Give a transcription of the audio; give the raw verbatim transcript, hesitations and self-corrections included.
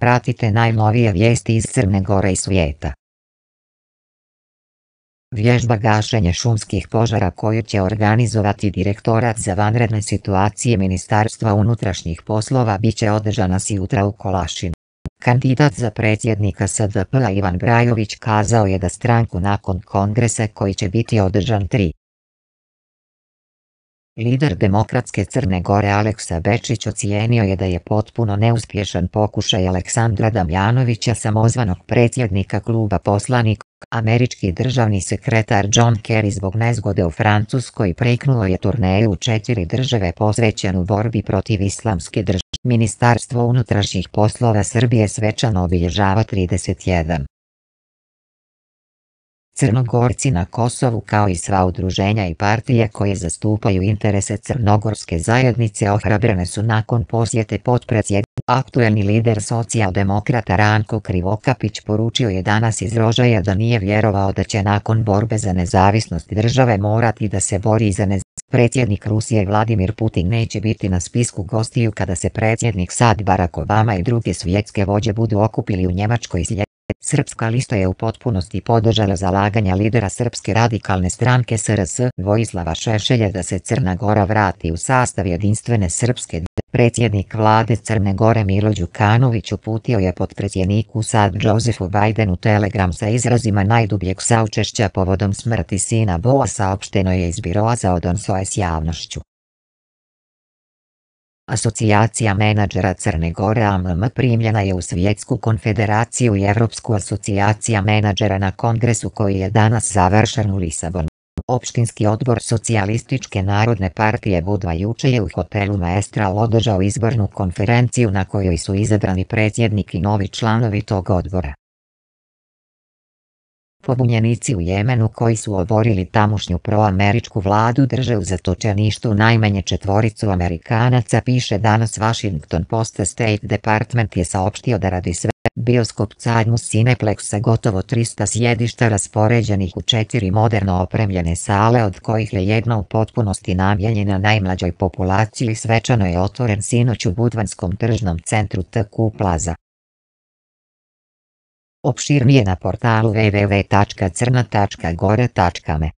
Pratite najnovije vijesti iz Crne Gore i svijeta. Vježba gašenja šumskih požara koju će organizovati Direktorat za vanredne situacije Ministarstva unutrašnjih poslova biće održana sutra u Kolašinu. Kandidat za predsjednika S D P-a Ivan Brajović kazao je da stranku nakon kongresa koji će biti održan tri. Lider Demokratske Crne Gore Aleksa Bečić ocijenio je da je potpuno neuspješan pokušaj Aleksandra Damjanovića, samozvanog predsjednika kluba poslanika. Američki državni sekretar John Kerry zbog nezgode u Francuskoj preknuo je turneju u četiri države posvećenu borbi protiv islamske države. Ministarstvo unutrašnjih poslova Srbije svečano obilježava trideset jedan. Crnogorci na Kosovu, kao i sva udruženja i partije koje zastupaju interese crnogorske zajednice, ohrabrene su nakon posjete potpredsjednika. Aktuelni lider socijaldemokrata Ranko Krivokapić poručio je danas iz Rožaja da nije vjerovao da će nakon borbe za nezavisnost države morati da se bori za nezavisnost. Predsjednik Rusije Vladimir Putin neće biti na spisku gostiju kada se predsjednik Sad Barack Obama i druge svjetske vođe budu okupili u Njemačkoj. Srpska lista je u potpunosti podržala zalaganja lidera Srpske radikalne stranke S R S Vojislava Šešelja da se Crna Gora vrati u sastav jedinstvene Srpske. Predsjednik vlade Crne Gore Milo Đukanović uputio je potpredsjedniku SAD Josefu Bidenu telegram sa izrazima najdubljeg saučešća povodom smrti sina Boa, saopšteno je iz Biroa za odnose s javnošću. Asocijacija menadžera Crne Gore A M M primljena je u Svjetsku konfederaciju i Evropsku asocijacija menadžera na kongresu koji je danas završen u Lisabonu. Opštinski odbor Socijalističke narodne partije Budva juče je u hotelu Maestral održao izbornu konferenciju na kojoj su izabrani predsjednik i novi članovi tog odbora. Pobunjenici u Jemenu koji su oborili tamošnju proameričku vladu drže u zatočeništvu najmanje četvoricu Amerikanaca, piše danas Washington Post. State Department je saopštio da radi sve bioskop Cadmus Cineplex sa gotovo trista sjedišta raspoređenih u četiri moderno opremljene sale, od kojih je jedna u potpunosti namijenjena najmlađoj populaciji, svečano je otvoren sinoć u Budvanskom tržnom centru T Q Plaza. Opširnije na portalu w w w tačka crna tačka gore tačka me.